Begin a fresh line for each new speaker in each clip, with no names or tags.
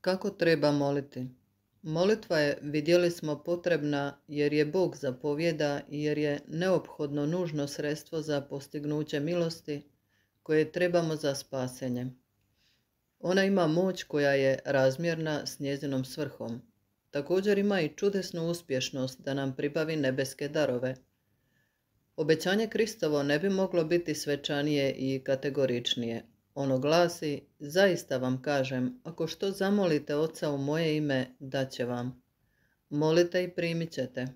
Kako treba moliti? Molitva je, vidjeli smo, potrebna jer je Bog zapovjeda i jer je neophodno nužno sredstvo za postignuće milosti koje trebamo za spasenje. Ona ima moć koja je razmjerna s njezinom svrhom. Također ima i čudesnu uspješnost da nam pribavi nebeske darove. Obećanje Kristovo ne bi moglo biti svečanije i kategoričnije. Ono glasi: zaista vam kažem, ako što zamolite Oca u moje ime, daće vam. Molite i primit ćete.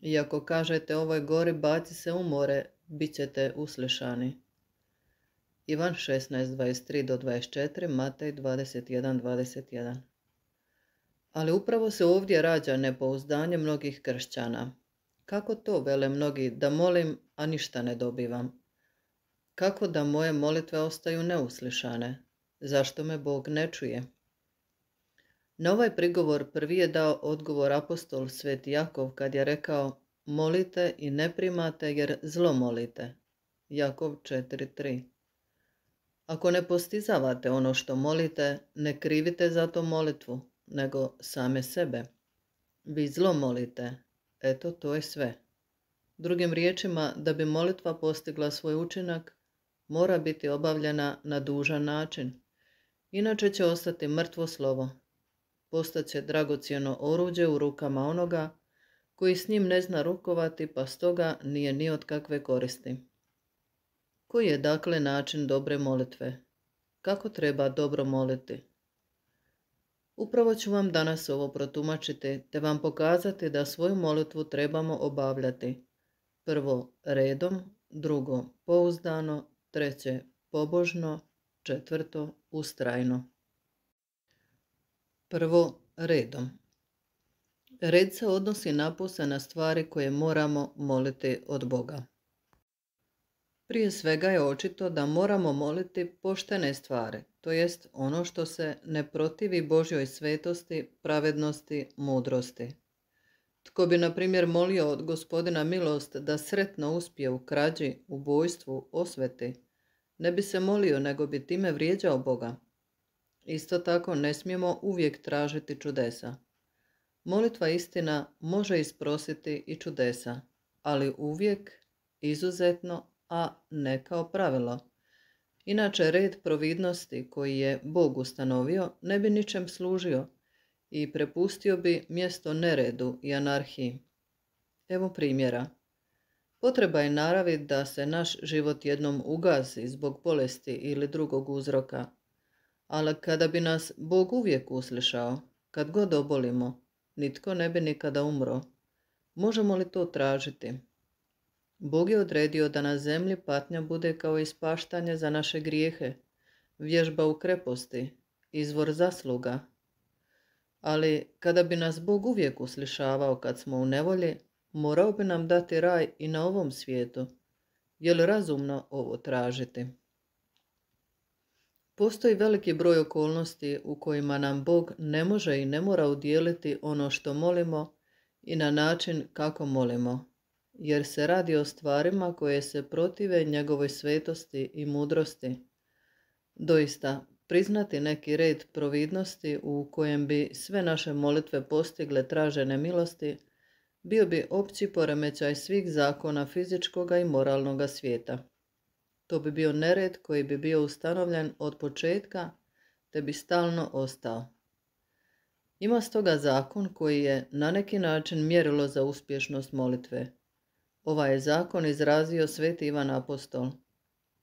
I ako kažete ovoj gori baci se u more, bit ćete uslišani. Ivan 16:23-24, Matej 21:21. Ali upravo se ovdje rađa nepouzdanje mnogih kršćana. Kako to, vele mnogi, da molim, a ništa ne dobivam? Kako da moje molitve ostaju neuslišane? Zašto me Bog ne čuje? Na ovaj prigovor prvi je dao odgovor apostol Sveti Jakov kad je rekao: molite i ne primate jer zlo molite. Jakov 4:3. Ako ne postizavate ono što molite, ne krivite za to molitvu, nego same sebe. Vi zlo molite. Eto, to je sve. Drugim riječima, da bi molitva postigla svoj učinak, mora biti obavljena na dužan način. Inače će ostati mrtvo slovo. Postaće dragocjeno oruđe u rukama onoga koji s njim ne zna rukovati, pa stoga nije ni od kakve koristi. Koji je dakle način dobre molitve? Kako treba dobro moliti? Upravo ću vam danas ovo protumačiti, te vam pokazati da svoju molitvu trebamo obavljati. Prvo redom, drugo pouzdano, treće pobožno, četvrto ustrajno. Prvo redom. Red se odnosi napose na stvari koje moramo moliti od Boga. Prije svega je očito da moramo moliti poštene stvari, to jest ono što se ne protivi Božjoj svetosti, pravednosti, mudrosti. Tko bi, na primjer, molio od Gospodina milost da sretno uspije u krađi, ubojstvu, osveti, ne bi se molio, nego bi time vrijeđao Boga. Isto tako ne smijemo uvijek tražiti čudesa. Molitva istina može isprositi i čudesa, ali uvijek, izuzetno, a ne kao pravilo. Inače, red providnosti koji je Bog ustanovio ne bi ničem služio i prepustio bi mjesto neredu i anarhiji. Evo primjera. Potreba je naravi da se naš život jednom ugasi zbog bolesti ili drugog uzroka, ali kada bi nas Bog uvijek uslišao, kad god obolimo, nitko ne bi nikada umro. Možemo li to tražiti? Bog je odredio da na zemlji patnja bude kao ispaštanje za naše grijehe, vježba u kreposti, izvor zasluga. Ali kada bi nas Bog uvijek uslišavao kad smo u nevolji, morao bi nam dati raj i na ovom svijetu. Je li razumno ovo tražiti? Postoji veliki broj okolnosti u kojima nam Bog ne može i ne mora udijeliti ono što molimo i na način kako molimo, jer se radi o stvarima koje se protive njegovoj svetosti i mudrosti. Doista, priznati neki red providnosti u kojem bi sve naše molitve postigle tražene milosti, bio bi opći poremećaj svih zakona fizičkoga i moralnoga svijeta. To bi bio nered koji bi bio ustanovljen od početka, te bi stalno ostao. Ima stoga zakon koji je na neki način mjerilo za uspješnost molitve. Ovaj je zakon izrazio Sveti Ivan Apostol.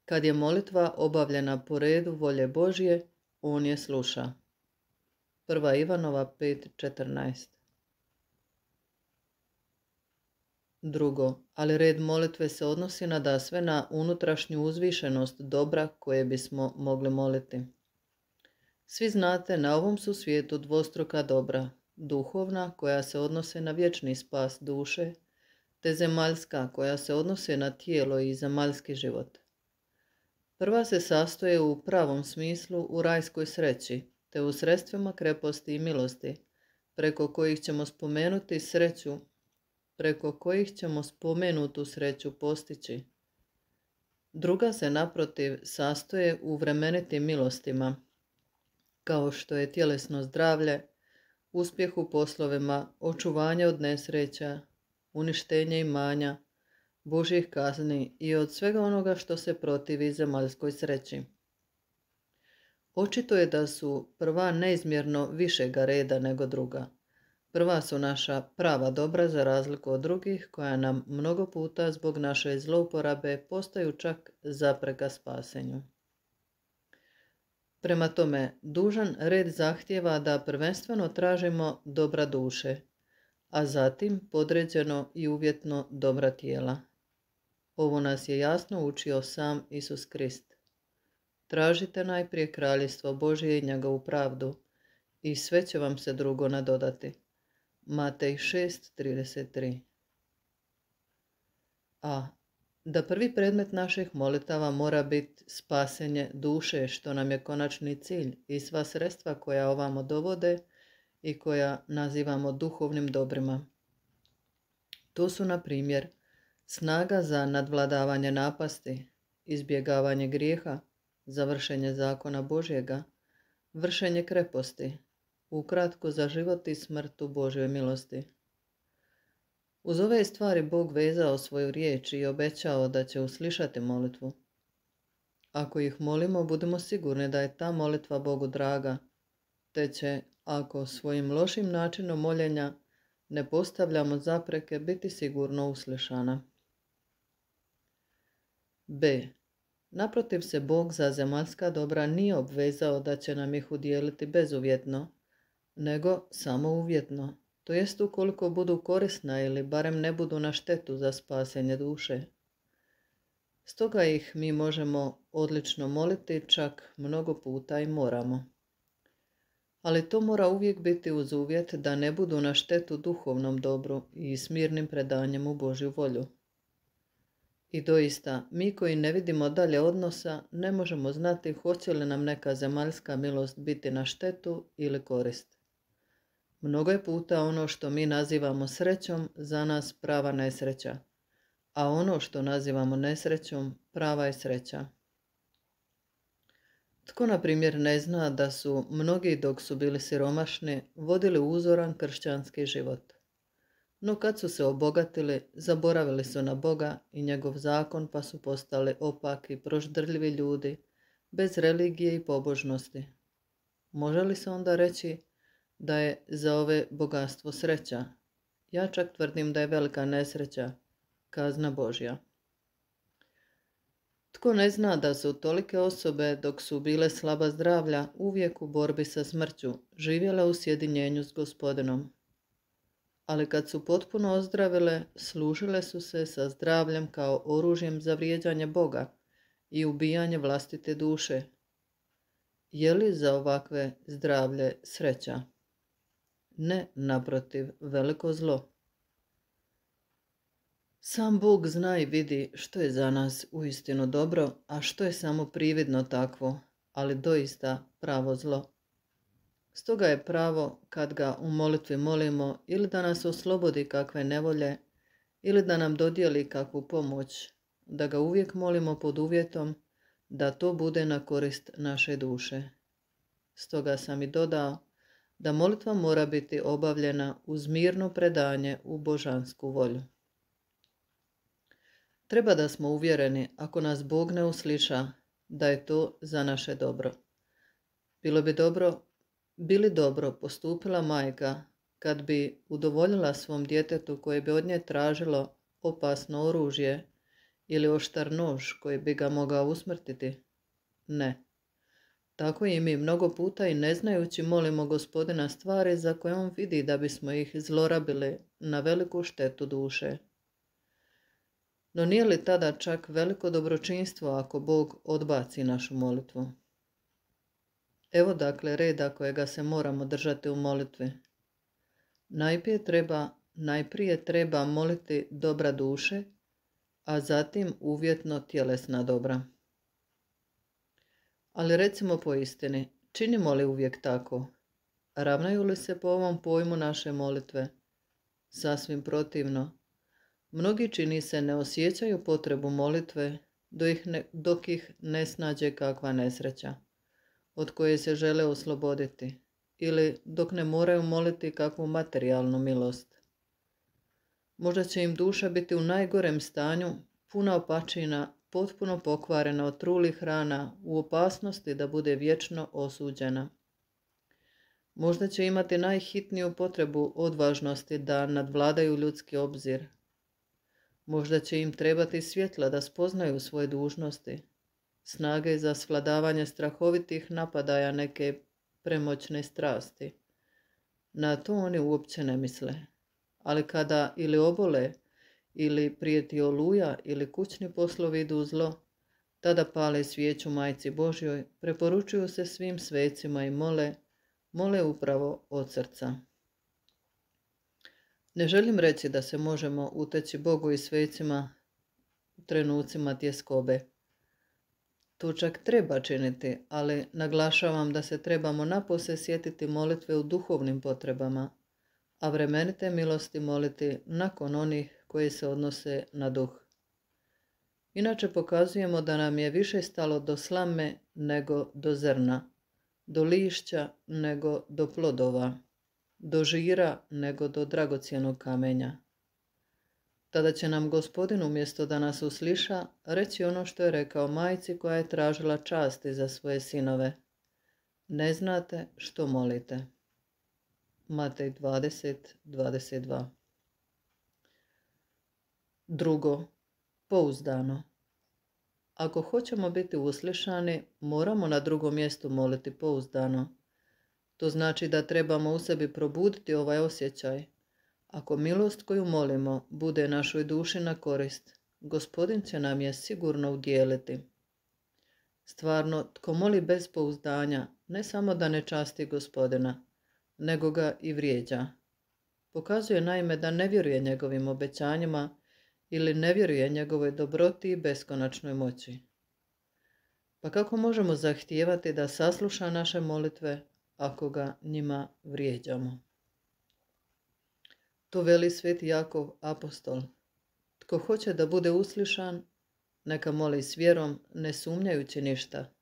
Kad je molitva obavljena po redu volje Božje, on je sluša. 1. Ivanova 5:14. Drugo, ali red molitve se odnosi nadasve na unutrašnju uzvišenost dobra koje bismo mogli moliti. Svi znate, na ovom su svijetu dvostruka dobra, duhovna koja se odnose na vječni spas duše, te zemaljska koja se odnose na tijelo i zemaljski život. Prva se sastoje u pravom smislu u rajskoj sreći, te u sredstvima kreposti i milosti, preko kojih ćemo spomenutu sreću postići. Druga se naprotiv sastoje u vremenitim milostima, kao što je tjelesno zdravlje, uspjeh u poslovima, očuvanje od nesreća, uništenje imanja, Božjih kazni i od svega onoga što se protivi zemaljskoj sreći. Očito je da su prva neizmjerno višega reda nego druga. Prva su naša prava dobra za razliku od drugih, koja nam mnogo puta zbog naše zlouporabe postaju čak zapreka spasenju. Prema tome, dužan red zahtijeva da prvenstveno tražimo dobra duše, a zatim podređeno i uvjetno dobra tijela. Ovo nas je jasno učio sam Isus Krist. Tražite najprije kraljevstvo Božje i njegovu pravdu, i sve će vam se drugo nadodati. Matej 6:33. A. Da prvi predmet naših molitava mora biti spasenje duše, što nam je konačni cilj, i sva sredstva koja ovamo dovode i koja nazivamo duhovnim dobrima. To su, na primjer, snaga za nadvladavanje napasti, izbjegavanje grijeha, završenje zakona Božjega, vršenje kreposti, ukratko za život i smrt u Božjoj milosti. Uz ove stvari Bog vezao svoju riječ i obećao da će uslišati molitvu. Ako ih molimo, budemo sigurni da je ta molitva Bogu draga, te će, ako svojim lošim načinom moljenja ne postavljamo zapreke, biti sigurno uslišana. B. Naprotiv se Bog za zemaljska dobra nije obvezao da će nam ih udijeliti bezuvjetno, nego samo uvjetno, to jest ukoliko budu korisna ili barem ne budu na štetu za spasenje duše. Stoga ih mi možemo odlično moliti, čak mnogo puta i moramo. Ali to mora uvijek biti uz uvjet da ne budu na štetu duhovnom dobru i smirnim predanjem u Božju volju. I doista, mi koji ne vidimo dalje odnosa, ne možemo znati hoće li nam neka zemaljska milost biti na štetu ili korist. Mnogo je puta ono što mi nazivamo srećom za nas prava nesreća, a ono što nazivamo nesrećom prava je sreća. Tko, na primjer, ne zna da su mnogi dok su bili siromašni vodili uzoran kršćanski život. No kad su se obogatili, zaboravili su na Boga i njegov zakon, pa su postali opaki, proždrljivi ljudi, bez religije i pobožnosti. Može li se onda reći da je za ove bogatstvo sreća? Ja čak tvrdim da je velika nesreća, kazna Božja. Tko ne zna da su tolike osobe, dok su bile slaba zdravlja, uvijek u borbi sa smrću, živjele u sjedinjenju s Gospodinom. Ali kad su potpuno ozdravile, služile su se sa zdravljem kao oružjem za vrijeđanje Boga i ubijanje vlastite duše. Je li za ovakve zdravlje sreća? Ne, naprotiv, veliko zlo. Sam Bog zna i vidi što je za nas uistinu dobro, a što je samo prividno takvo, ali doista pravo zlo. Stoga je pravo, kad ga u molitvi molimo, ili da nas oslobodi kakve nevolje, ili da nam dodijeli kakvu pomoć, da ga uvijek molimo pod uvjetom da to bude na korist naše duše. Stoga sam i dodao da molitva mora biti obavljena uz mirno predanje u božansku volju. Treba da smo uvjereni, ako nas Bog ne usliša, da je to za naše dobro. Bi li dobro postupila majka kad bi udovoljila svom djetetu koje bi od nje tražilo opasno oružje ili oštar nož koji bi ga mogao usmrtiti? Ne. Tako i mi mnogo puta i ne znajući molimo Gospodina stvari za koje on vidi da bismo ih zlorabili na veliku štetu duše. No nije li tada čak veliko dobročinstvo ako Bog odbaci našu molitvu? Evo dakle reda kojega se moramo držati u molitvi. Najprije treba moliti dobra duše, a zatim uvjetno tjelesna dobra. Ali recimo po istini, činimo li uvijek tako? Ravnaju li se po ovom pojmu naše molitve? Sasvim protivno. Mnogi, čini se, ne osjećaju potrebu molitve dok ih ne snađe kakva nesreća. od koje se žele osloboditi, ili dok ne moraju moliti kakvu materijalnu milost. Možda će im duša biti u najgorem stanju, puna opačina, potpuno pokvarena od trulih rana, u opasnosti da bude vječno osuđena. Možda će imati najhitniju potrebu odvažnosti da nadvladaju ljudski obzir. Možda će im trebati svjetla da spoznaju svoje dužnosti, snage za svladavanje strahovitih napadaja neke premoćne strasti. Na to oni uopće ne misle. Ali kada ili obole, ili prijeti oluja, ili kućni poslovi idu u zlo, tada pale svijeću Majci Božjoj, preporučuju se svim svecima i mole upravo od srca. Ne želim reći da se možemo uteći Bogu i svecima u trenucima tjeskobe. To čak treba činiti, ali naglašavam da se trebamo napose sjetiti molitve u duhovnim potrebama, a vremenite milosti moliti nakon onih koji se odnose na duh. Inače pokazujemo da nam je više stalo do slame nego do zrna, do lišća nego do plodova, do žira nego do dragocjenog kamenja. Tada će nam Gospodin umjesto da nas usliša reći ono što je rekao majci koja je tražila časti za svoje sinove. Ne znate što molite. Matej 20:22. Drugo, pouzdano. Ako hoćemo biti uslišani, moramo na drugom mjestu moliti pouzdano. To znači da trebamo u sebi probuditi ovaj osjećaj. Ako milost koju molimo bude našoj duši na korist, Gospodin će nam je sigurno udjeliti. Stvarno, tko moli bez pouzdanja, ne samo da ne časti Gospodina, nego ga i vrijeđa. Pokazuje naime da ne vjeruje njegovim obećanjima ili ne vjeruje njegovoj dobroti i beskonačnoj moći. Pa kako možemo zahtijevati da sasluša naše molitve ako ga njima vrijeđamo? To veli sveti Jakov apostol. Tko hoće da bude uslišan, neka moli s vjerom, ne sumnjajući ništa.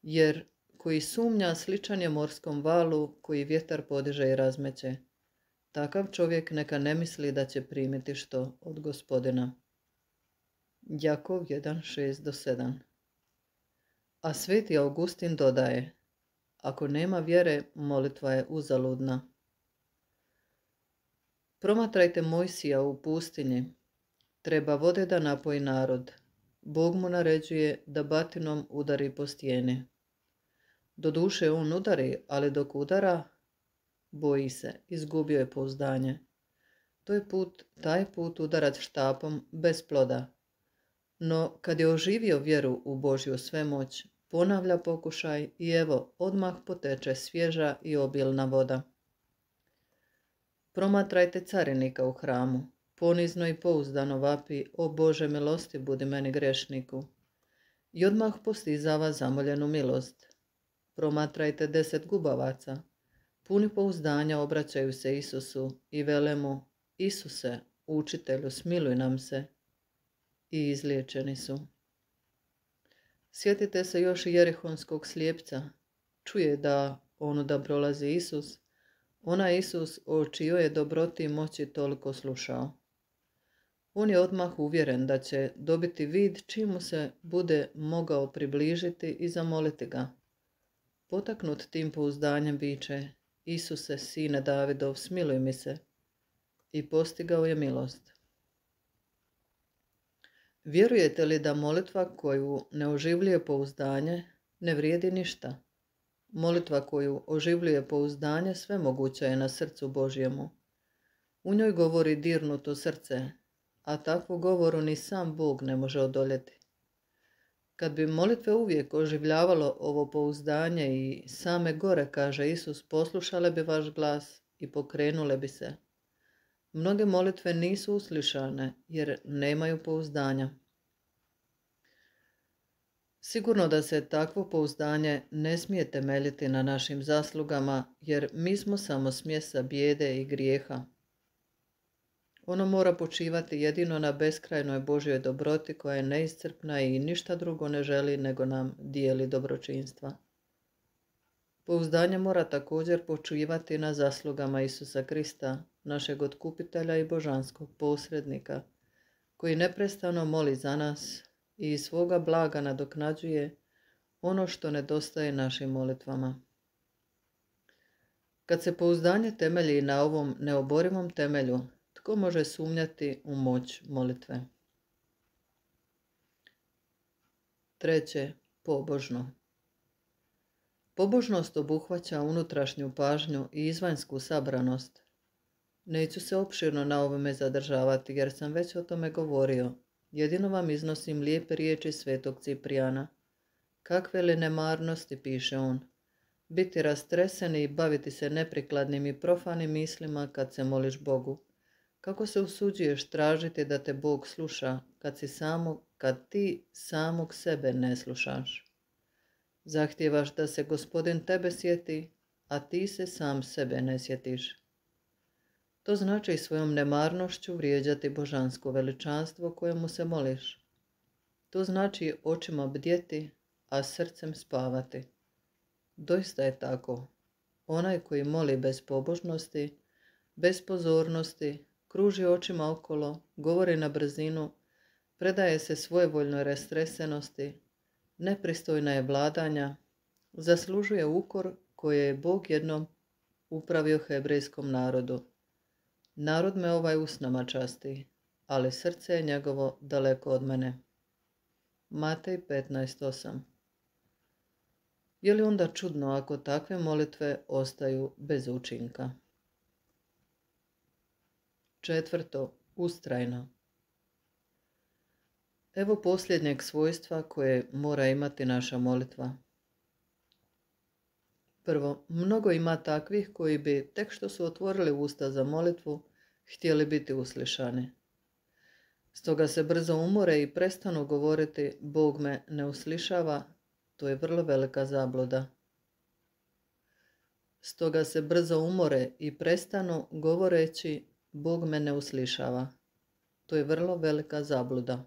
Jer koji sumnja sličan je morskom valu koji vjetar podiže i razmeće. Takav čovjek neka ne misli da će primiti što od Gospodina. Jakov 1:6-7. A sveti Augustin dodaje, ako nema vjere, molitva je uzaludna. Promatrajte Mojsija u pustinji. Treba vode da napoji narod. Bog mu naređuje da batinom udari po stijeni. Doduše on udari, ali dok udara, boji se, izgubio je pouzdanje. Taj put udarac štapom bez ploda. No kad je oživio vjeru u Božju svemoć, ponavlja pokušaj i evo, odmah poteče svježa i obilna voda. Promatrajte carinika u hramu. Ponizno i pouzdano vapi, o Bože milosti budi meni grešniku. I odmah postizava zamoljenu milost. Promatrajte 10 gubavaca. Puni pouzdanja obraćaju se Isusu i vele mu, Isuse, učitelju, smiluj nam se. I izliječeni su. Sjetite se još i jerihonskog slijepca. Čuje da onuda prolazi Isus, onaj Isus o čijoj je dobroti i moći toliko slušao. On je odmah uvjeren da će dobiti vid čim mu se bude mogao približiti i zamoliti ga. Potaknut tim pouzdanjem viče, Isuse, sine Davidov, smiluj mi se. I postigao je milost. Vjerujete li da molitva koju ne oživljuje pouzdanje ne vrijedi ništa? Molitva koju oživljuje pouzdanje svemoguća je na srcu Božjemu. U njoj govori dirnuto srce, a takvu govoru ni sam Bog ne može odoljeti. Kad bi molitve uvijek oživljavalo ovo pouzdanje i same gore, kaže Isus, poslušale bi vaš glas i pokrenule bi se. Mnoge molitve nisu uslišane jer nemaju pouzdanja. Sigurno da se takvo pouzdanje ne smije temeljiti na našim zaslugama, jer mi smo samo smjesa bijede i grijeha. Ono mora počivati jedino na beskrajnoj Božjoj dobroti koja je neiscrpna i ništa drugo ne želi nego nam dijeli dobročinstva. Pouzdanje mora također počivati na zaslugama Isusa Krista, našeg otkupitelja i božanskog posrednika, koji neprestano moli za nas i iz svoga blaga nadoknađuje ono što nedostaje našim molitvama. Kad se pouzdanje temelji na ovom neoborivom temelju, tko može sumnjati u moć molitve? Treće, pobožno. Pobožnost obuhvaća unutrašnju pažnju i izvanjsku sabranost. Neću se opširno na ovome zadržavati jer sam već o tome govorio. Jedino vam iznosim lijepe riječi svetog Ciprijana. Kakve li nemarnosti, piše on, biti rastreseni i baviti se neprikladnim i profanim mislima kad se moliš Bogu. Kako se usuđuješ tražiti da te Bog sluša kad ti samog sebe ne slušaš? Zahtijevaš da se Gospodin tebe sjeti, a ti se sam sebe ne sjetiš. To znači svojom nemarnošću vrijeđati božansko veličanstvo kojemu se moliš. To znači očima bdjeti, a srcem spavati. Doista je tako. Onaj koji moli bez pobožnosti, bez pozornosti, kruži očima okolo, govori na brzinu, predaje se svojevoljnoj rastresenosti, nepristojna je vladanja, zaslužuje ukor koje je Bog jednom upravio hebrejskom narodu. Narod me usnama časti, ali srce je njegovo daleko od mene. Matej 15:8. Je li onda čudno ako takve molitve ostaju bez učinka? Četvrto, ustrajno. Evo posljednjeg svojstva koje mora imati naša molitva. Prvo, mnogo ima takvih koji bi, tek što su otvorili usta za molitvu, htjeli biti uslišani. Stoga se brzo umore i prestanu govoriti Bog me ne uslišava, to je vrlo velika zabluda. Stoga se brzo umore i prestanu govoreći Bog me ne uslišava, to je vrlo velika zabluda.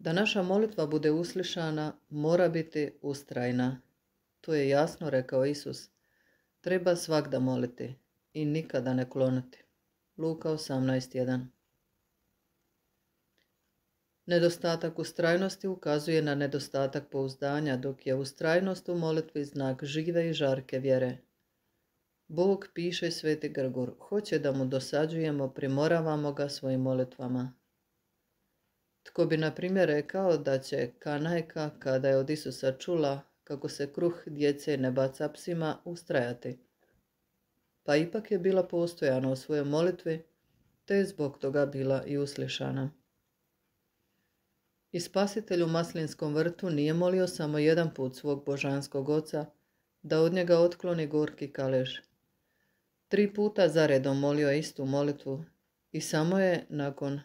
Da naša molitva bude uslišana, mora biti ustrajna. To je jasno rekao Isus. Treba svagda moliti i nikada ne klonuti. Luka 18:1. Nedostatak ustrajnosti ukazuje na nedostatak pouzdanja, dok je ustrajnost u molitvi znak žive i žarke vjere. Bog, piše sveti Grgur, hoće da mu dosađujemo, primoravamo ga svojim molitvama. Tko bi, na primjer, rekao da će kanajka, kada je od Isusa čula kako se kruh djece ne baca psima, ustrajati? Pa ipak je bila postojana u svojoj molitvi, te je zbog toga bila i uslišana. I Spasitelj u Maslinskom vrtu nije molio samo jedan put svog božanskog oca da od njega otkloni gorki kalež. 3 puta zaredom molio je istu molitvu i samo je nakon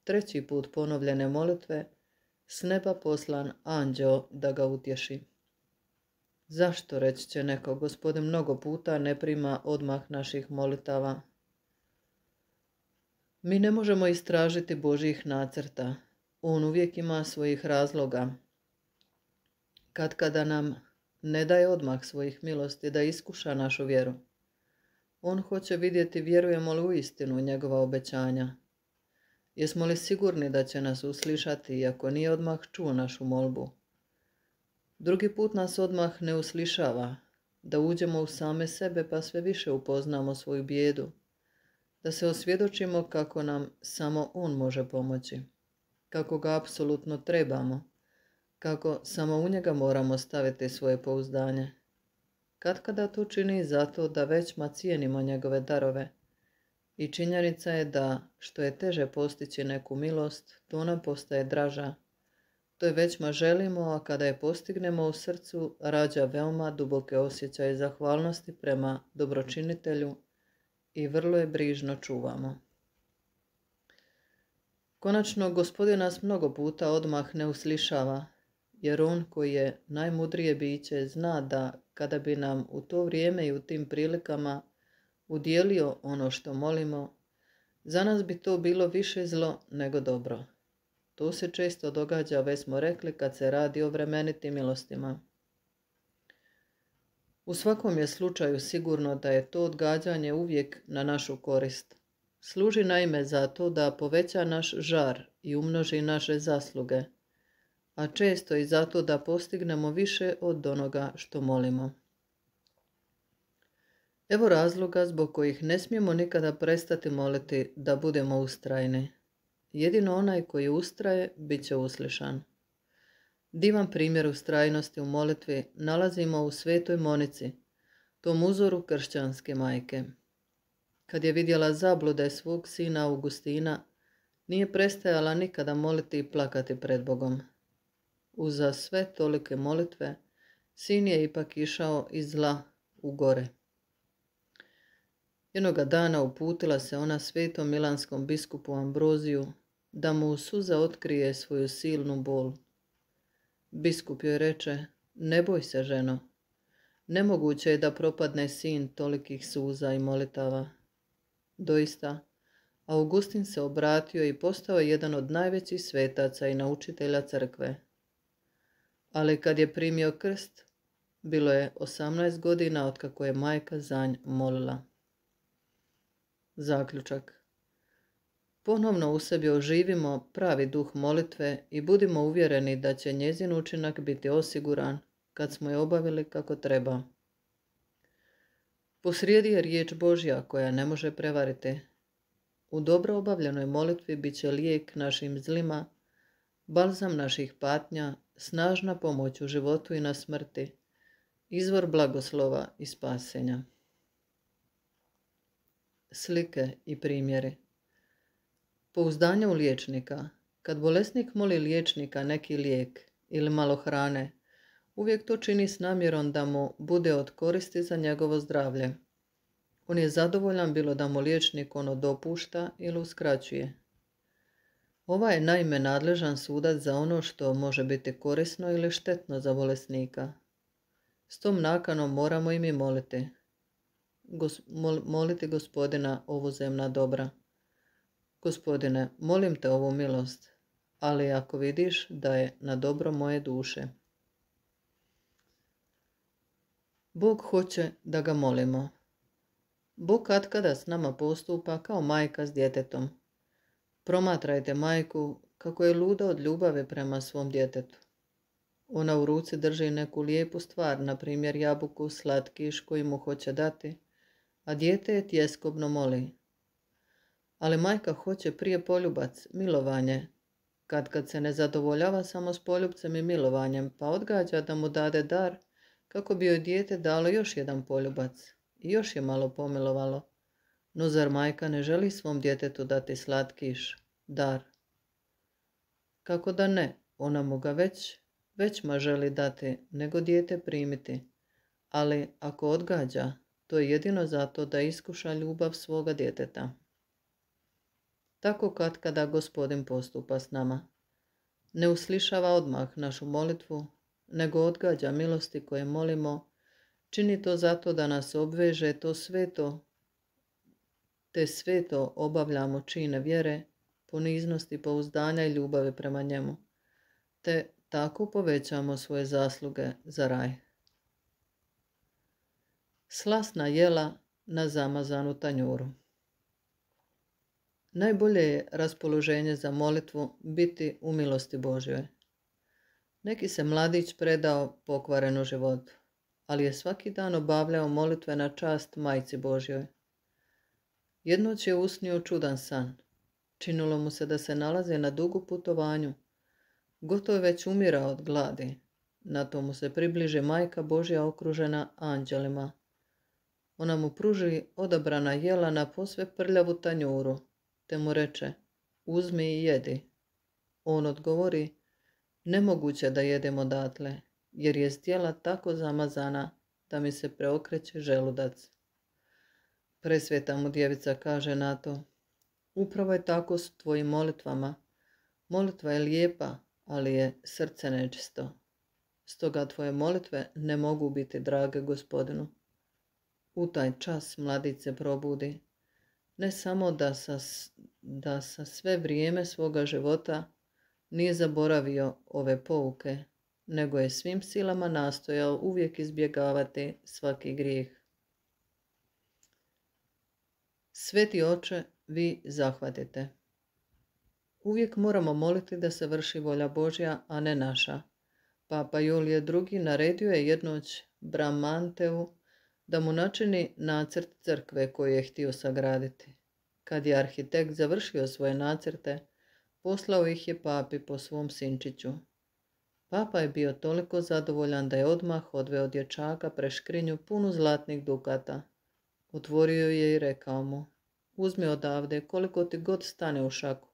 3. put ponovljene molitve s neba poslan anđeo da ga utješi. Zašto, reći će neko, Gospodin mnogo puta ne prima odmah naših molitava? Mi ne možemo istražiti Božjih nacrta. On uvijek ima svojih razloga. Kada nam ne daje odmah svojih milosti da iskuša našu vjeru. On hoće vidjeti vjerujemo li u istinu njegova obećanja. Jesmo li sigurni da će nas uslišati iako nije odmah čuo našu molbu? Drugi put nas odmah ne uslišava, da uđemo u same sebe pa sve više upoznamo svoju bijedu, da se osvjedočimo kako nam samo on može pomoći, kako ga apsolutno trebamo, kako samo u njega moramo staviti svoje pouzdanje. Katkada to čini zato da većma cijenimo njegove darove i činjenica je da što je teže postići neku milost, to nam postaje draža. To je većma želimo, a kada je postignemo u srcu, rađa veoma duboke osjećaje zahvalnosti prema dobročinitelju i vrlo je brižno čuvamo. Konačno, Gospodin nas mnogo puta odmah ne uslišava, jer on koji je najmudrije biće zna da kada bi nam u to vrijeme i u tim prilikama udijelio ono što molimo, za nas bi to bilo više zlo nego dobro. To se često događa, već smo rekli, kad se radi o vremenitim milostima. U svakom je slučaju sigurno da je to odgađanje uvijek na našu korist. Služi naime za to da poveća naš žar i umnoži naše zasluge, a često i zato da postignemo više od onoga što molimo. Evo razloga zbog kojih ne smijemo nikada prestati moliti da budemo ustrajni. Jedino onaj koji ustraje bit će uslišan. Divan primjer ustrajnosti u molitvi nalazimo u Svetoj Monici, tom uzoru kršćanske majke. Kad je vidjela zablude svog sina Augustina, nije prestajala nikada moliti i plakati pred Bogom. Uza sve tolike molitve, sin je ipak išao iz zla u gore. Jednoga dana uputila se ona svetom milanskom biskupu Ambroziju da mu u suza otkrije svoju silnu bol. Biskup joj reče: ne boj se, ženo, nemoguće je da propadne sin tolikih suza i molitava. Doista, Augustin se obratio i postao jedan od najvećih svetaca i naučitelja crkve. Ali kad je primio krst, bilo je 18 godina otkako je majka za nj molila. Zaključak. Ponovno u sebi oživimo pravi duh molitve i budimo uvjereni da će njezin učinak biti osiguran kad smo je obavili kako treba. Posrijedi je riječ Božja koja ne može prevariti. U dobro obavljenoj molitvi bit će lijek našim zlima, balzam naših patnja, snažna pomoć u životu i na smrti, izvor blagoslova i spasenja. Slike i primjeri. Pouzdanje u liječnika. Kad bolesnik moli liječnika neki lijek ili malo hrane, uvijek to čini s namjerom da mu bude od koristi za njegovo zdravlje. On je zadovoljan bilo da mu liječnik ono dopušta ili uskraćuje. Ovaj je naime nadležan sudac za ono što može biti korisno ili štetno za bolesnika. S tom nakanom moramo i mi moliti. Moliti Gospodina ovozemna dobra. Gospodine, molim te ovu milost, ali ako vidiš da je na dobro moje duše. Bog hoće da ga molimo. Bog katkada s nama postupa kao majka s djetetom. Promatrajte majku kako je luda od ljubave prema svom djetetu. Ona u ruci drži neku lijepu stvar, na primjer jabuku, slatkiš koji mu hoće dati, a dijete je tjeskobno moli. Ali majka hoće prije poljubac, milovanje, kad se ne zadovoljava samo s poljubcem i milovanjem, pa odgađa da mu dade dar kako bi joj dijete dalo još jedan poljubac i još je malo pomilovalo. No zar majka ne želi svom djetetu dati slatkiš, dar? Kako da ne, ona mu ga već ma želi dati, nego dijete primiti. Ali ako odgađa, to je jedino zato da iskuša ljubav svoga djeteta. Tako katkada Gospodin postupa s nama. Ne uslišava odmah našu molitvu, nego odgađa milosti koje molimo, čini to zato da nas obveže te sveto obavljamo čine vjere, poniznosti, pouzdanja i ljubavi prema njemu, te tako povećamo svoje zasluge za raj. Slasna jela na zamazanu tanjuru. Najbolje je raspoloženje za molitvu biti u milosti Božjoj. Neki se mladić predao pokvarenu životu, ali je svaki dan obavljao molitve na čast Majci Božjoj. Jednoć je usnio čudan san. Činilo mu se da se nalazi na dugu putovanju. Gotovo je već umirao od gladi. Na to mu se približi Majka Božja okružena anđelima. Ona mu pruži odabrana jela na posve prljavu tanjuru, te mu reče: uzmi i jedi. On odgovori: nemoguće da jedem odatle, jer je zdjela tako zamazana da mi se preokreće želudac. Presveta mu djevica kaže na to: upravo je tako s tvojim molitvama. Molitva je lijepa, ali je srce nečisto. Stoga tvoje molitve ne mogu biti drage Gospodinu. U taj čas mladić se probudi. Ne samo da sa sve vrijeme svoga života nije zaboravio ove pouke, nego je svim silama nastojao uvijek izbjegavati svaki grijeh. Sveti oče, vi zahvatite. Uvijek moramo moliti da se vrši volja Božja, a ne naša. Papa Julije II. Naredio je jednoć Bramanteu da mu načini nacrt crkve koju je htio sagraditi. Kad je arhitekt završio svoje nacrte, poslao ih je papi po svom sinčiću. Papa je bio toliko zadovoljan da je odmah odveo dječaka preškrinju punu zlatnih dukata. Otvorio je i rekao mu: uzmi odavde koliko ti god stane u šaku.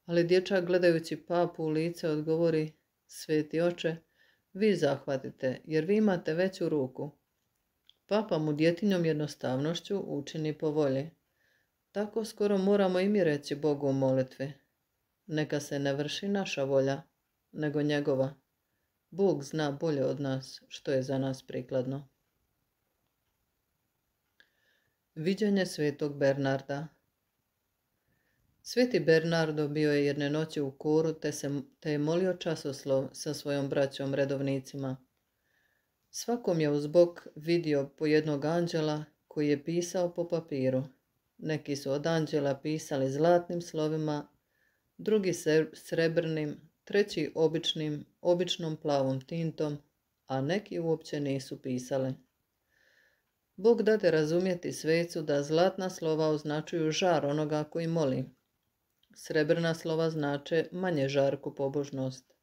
Ali dječak gledajući papu u lice odgovori: sveti oče, vi zahvatite, jer vi imate veću ruku. Papa mu djetinjom jednostavnošću učini po volji. Tako skoro moramo i mi reći Bogu u molitvi: neka se ne vrši naša volja, nego njegova. Bog zna bolje od nas što je za nas prikladno. Viđenje svetog Bernarda. Sveti Bernardo bio je jedne noći u koru te je molio časoslov sa svojom braćom redovnicima. Svakom je uz bok vidio po jednog anđela koji je pisao po papiru. Neki su od anđela pisali zlatnim slovima, drugi srebrnim, treći običnom plavom tintom, a neki uopće nisu pisali. Bog dade razumjeti svecu da zlatna slova označuju žar onoga koji moli. Srebrna slova znače manje žarku pobožnost.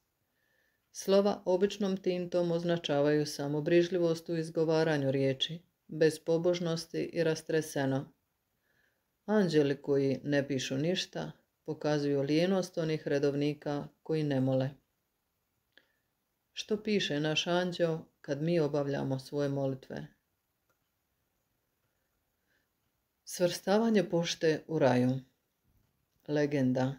Slova običnom tintom označavaju samo brižljivost u izgovaranju riječi, bez pobožnosti i rastreseno. Anđeli koji ne pišu ništa pokazuju lijenost onih redovnika koji ne mole. Što piše naš anđeo kad mi obavljamo svoje molitve? Svrstavanje pošte u raju. Legenda.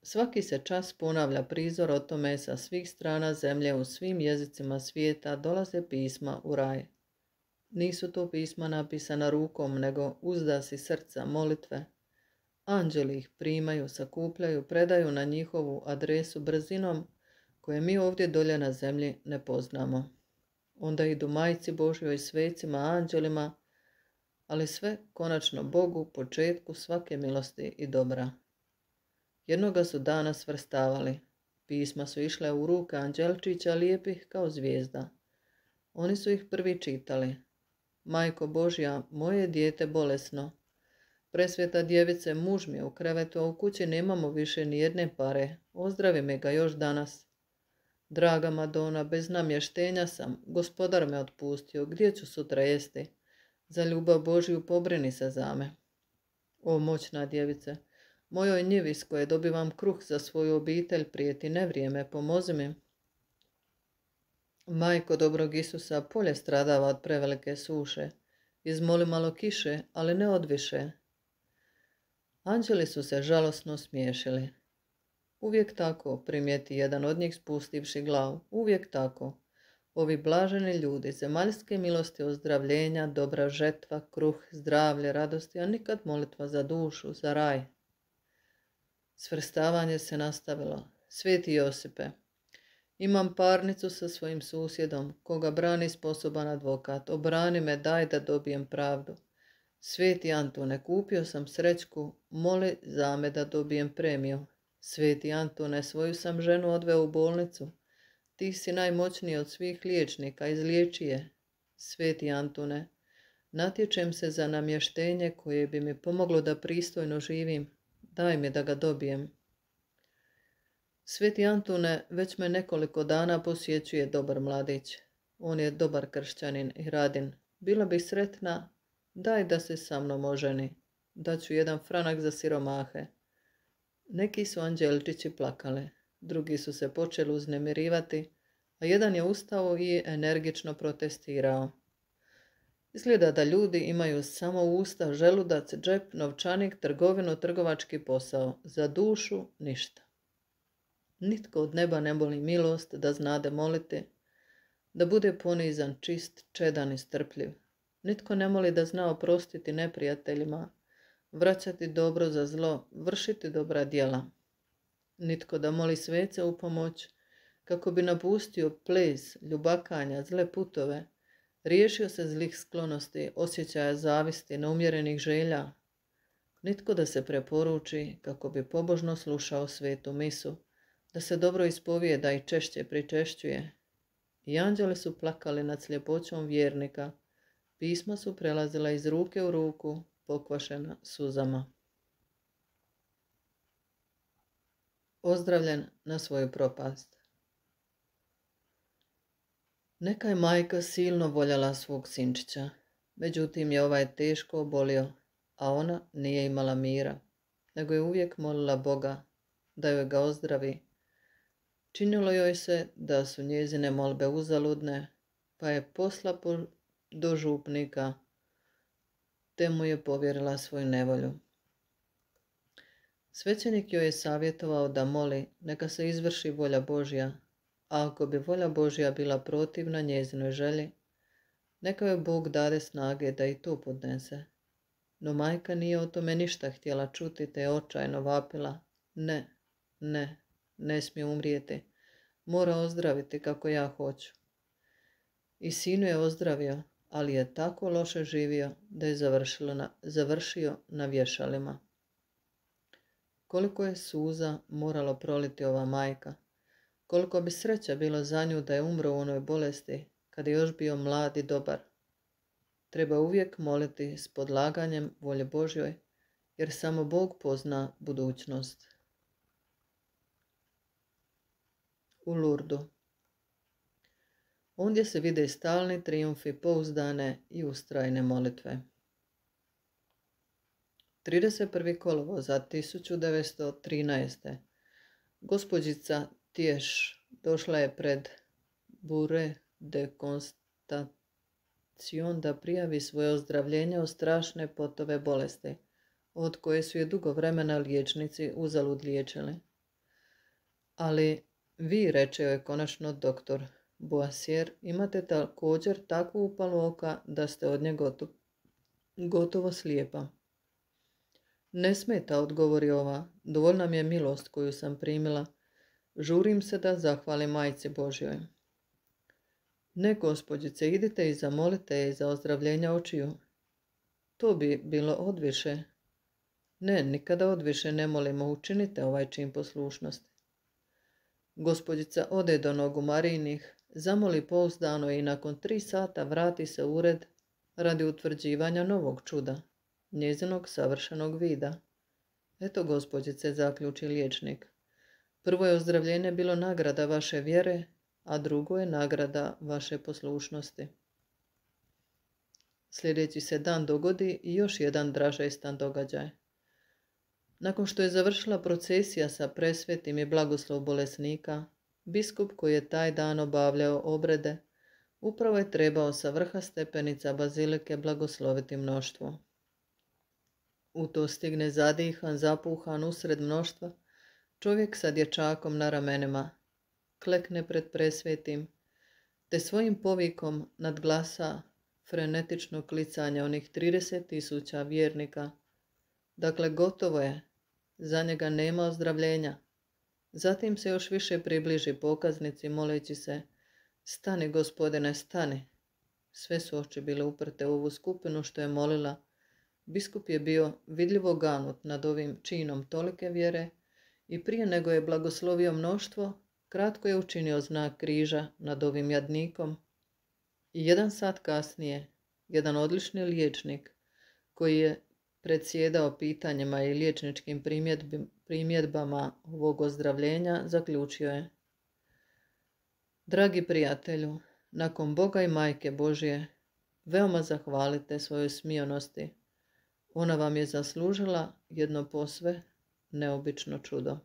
Svaki se čas ponavlja prizor o tome sa svih strana zemlje u svim jezicima svijeta dolaze pisma u raj. Nisu to pisma napisana rukom, nego uzdasi srca molitve. Anđeli ih primaju, sakupljaju, predaju na njihovu adresu brzinom koje mi ovdje dolje na zemlji ne poznamo. Onda idu Majci Božjoj, svecima, anđelima, ali sve konačno Bogu, početku svake milosti i dobra. Jednoga su dana svrstavali. Pisma su išle u ruke anđelčića lijepih kao zvijezda. Oni su ih prvi čitali. Majko Božja, moje dijete bolesno. Presveta djevice, muž mi je u krevetu, a u kući nemamo više ni jedne pare. Ozdravi me ga još danas. Draga Madona, bez namještenja sam. Gospodar me otpustio. Gdje ću sutra jesti? Za ljubav Božju pobrini se za me. O moćna djevice, mojoj njivi s koje dobivam kruh za svoju obitelj prijeti nevrijeme, pomozi mi. Majko dobrog Isusa, polje stradava od prevelike suše. Izmoli malo kiše, ali ne odviše. Anđeli su se žalosno smiješili. Uvijek tako, primijeti jedan od njih spustivši glavu. Uvijek tako. Ovi blaženi ljudi, zemaljske milosti, ozdravljenja, dobra žetva, kruh, zdravlje, radosti, a nikad molitva za dušu, za raj. Svrstavanje se nastavilo. Sveti Josipe, imam parnicu sa svojim susjedom, koga brani sposoban advokat. Obrani me, daj da dobijem pravdu. Sveti Antune, kupio sam srećku, moli za me da dobijem premiju. Sveti Antune, svoju sam ženu odveo u bolnicu. Ti si najmoćniji od svih liječnika, izliječi je. Sveti Antune, natječem se za namještenje koje bi mi pomoglo da pristojno živim. Daj mi da ga dobijem. Sveti Antune, već me nekoliko dana posjećuje dobar mladić. On je dobar kršćanin i radin. Bila bih sretna, daj da se sa mnom oženi. Daću 1 franak za siromahe. Neki su anđelčići plakali, drugi su se počeli uznemirivati, a jedan je ustao i energično protestirao. Izgleda da ljudi imaju samo usta, želudac, džep, novčanik, trgovinu, trgovački posao. Za dušu ništa. Nitko od neba ne moli milost da znade moliti, da bude ponizan, čist, čedan i strpljiv. Nitko ne moli da zna oprostiti neprijateljima, vraćati dobro za zlo, vršiti dobra djela. Nitko da moli svece u pomoć, kako bi napustio ples, ljubakanja, zle putove, riješio se zlih sklonosti, osjećaja zavisti, neumjerenih želja. Nitko da se preporuči kako bi pobožno slušao svetu misu, da se dobro ispovijeda i češće pričešćuje. I anđeli su plakali nad sljepoćom vjernika, pisma su prelazila iz ruke u ruku, pokvašena suzama. Ozdravljen na svoju propast. Neka je majka silno voljela svog sinčića, međutim je ovaj teško obolio, a ona nije imala mira, nego je uvijek molila Boga da joj ga ozdravi. Činilo joj se da su njezine molbe uzaludne, pa je posla do župnika, te mu je povjerila svoju nevolju. Svećenik joj je savjetovao da moli, neka se izvrši volja Božja, a ako bi volja Božja bila protivna njezinoj želji, neka joj Bog dade snage da i to podnese. No majka nije o tome ništa htjela čuti, te je očajno vapila. Ne smije umrijeti. Mora ozdraviti kako ja hoću. I sinu je ozdravio, ali je tako loše živio da je završio na vješalima. Koliko je suza moralo proliti ova majka, koliko bi sreća bilo za nju da je umro u onoj bolesti, kad je još bio mlad i dobar. Treba uvijek moliti s podlaganjem volje Božjoj, jer samo Bog pozna budućnost. U Lurdu. Ondje se vide stalni trijumfi pouzdane i ustrajne molitve. 31. kolovoza 1913. Gospođica Tješ došla je pred Bureau de Constatation da prijavi svoje ozdravljenje od strašne potove bolesti, od koje su je dugo vremena liječnici uzalud liječili. Ali vi, reče joj konačno doktor Boisier, imate također takvu upalu oka da ste od nje gotovo slijepa. Ne smeta, odgovori ova, dovoljna mi je milost koju sam primila. Žurim se da zahvalim majci Božjoj. Ne, gospođice, idite i zamolite je za ozdravljenja očiju. To bi bilo odviše. Ne, nikada odviše ne molimo, učinite ovaj čin poslušnosti. Gospođica ode do nogu Marijinih, zamoli pouzdano i nakon 3 sata vrati se u ured radi utvrđivanja novog čuda, njezinog savršenog vida. Eto, gospođice, zaključi liječnik. Prvo je ozdravljenje bilo nagrada vaše vjere, a drugo je nagrada vaše poslušnosti. Sljedeći se dan dogodi i još jedan dražestan događaj. Nakon što je završila procesija sa presvetim i blagoslov bolesnika, biskup koji je taj dan obavljao obrede, upravo je trebao sa vrha stepenica bazilike blagosloviti mnoštvo. U to stigne zadihan, zapuhan usred mnoštva, čovjek sa dječakom na ramenima, klekne pred presvetim, te svojim povikom nadglasa frenetično klicanje onih 30.000 vjernika. Dakle, gotovo je, za njega nema ozdravljenja. Zatim se još više približi pokaznici moleći se, stani, gospodine, stani. Sve su oči bile uprte u ovu skupinu što je molila. Biskup je bio vidljivo ganut nad ovim činom tolike vjere i prije nego je blagoslovio mnoštvo, kratko je učinio znak križa nad ovim jadnikom. I 1 sat kasnije, jedan odlični liječnik koji je predsjedao pitanjima i liječničkim primjedbama ovog ozdravljenja, zaključio je: dragi prijatelju, nakon Boga i Majke Božje, veoma zahvalite svojoj smionosti. Ona vam je zaslužila jedno posve neobično čudo.